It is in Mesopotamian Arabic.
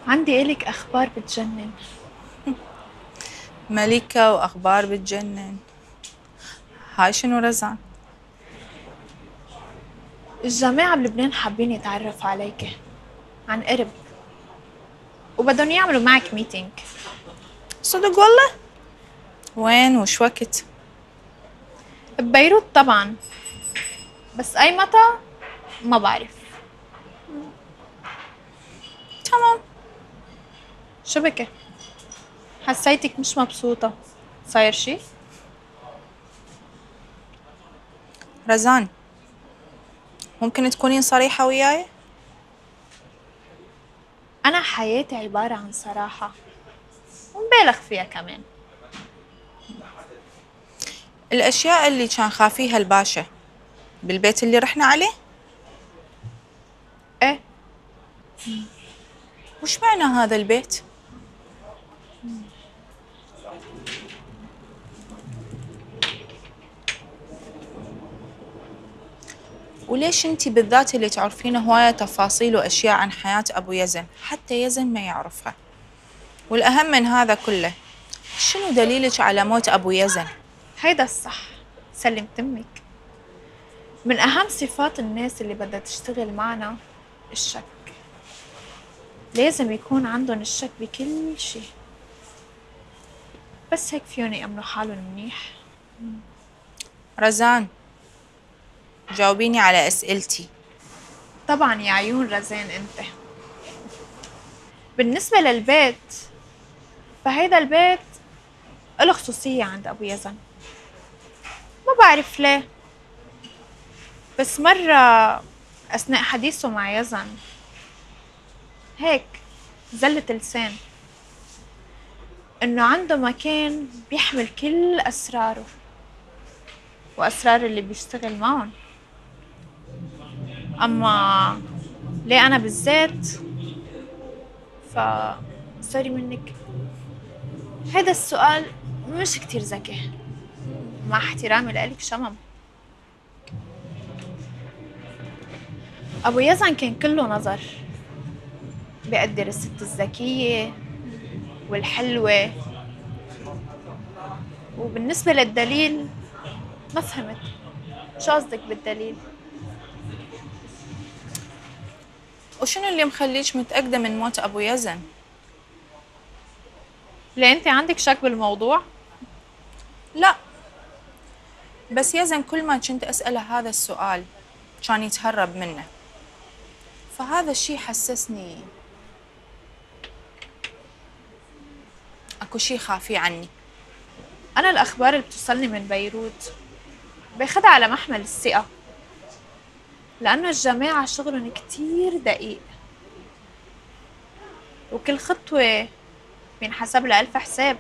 عندي إلك أخبار بتجنن. ملكة وأخبار بتجنن. هاي شنو رزان؟ الجماعة بلبنان حابين يتعرفوا عليك عن قرب، وبدهم يعملوا معك ميتينج. صدق والله؟ وين وش وقت؟ ببيروت طبعا، بس أي متى ما بعرف. تمام. شو بكي؟ حسيتك مش مبسوطة، صاير شي؟ رزان، ممكن تكونين صريحة وياي؟ أنا حياتي عبارة عن صراحة ومبالغ فيها كمان. الأشياء اللي كان خافيها الباشا بالبيت اللي رحنا عليه؟ إيه؟ وش معنى هذا البيت؟ وليش انتي بالذات اللي تعرفين هواية تفاصيل وأشياء عن حياة أبو يزن حتى يزن ما يعرفها؟ والأهم من هذا كله، شنو دليلك على موت أبو يزن؟ هيدا الصح، سلمت أمك. من أهم صفات الناس اللي بدها تشتغل معنا الشك. لازم يكون عندهم الشك بكل شي، بس هيك فيهم يأمنوا حالهم منيح. رزان، جاوبيني على أسئلتي. طبعا يا عيون رزان انت. بالنسبة للبيت، فهيدا البيت له خصوصية عند أبو يزن. ما بعرف ليه، بس مرة أثناء حديثه مع يزن هيك زلت لسان إنه عنده مكان بيحمل كل أسراره وأسرار اللي بيشتغل معهم. أما ليه أنا بالذات، سوري منك، هذا السؤال مش كتير ذكي، مع احترامي لإلك شمم. أبو يزن كان كله نظر، بيقدر الست الذكية والحلوة. وبالنسبة للدليل، ما فهمت شو قصدك بالدليل؟ وشنو اللي مخليك متأكدة من موت أبو يزن؟ ليه أنت عندك شك بالموضوع؟ لا، بس يزن كل ما كنت أسأله هذا السؤال كان يتهرب منه، فهذا الشي حسسني أكو شي خافي عني. أنا الأخبار اللي بتوصلني من بيروت باخدها على محمل الثقة، لأنه الجماعة شغلهم كتير دقيق، وكل خطوة بينحسب لها ألف حساب.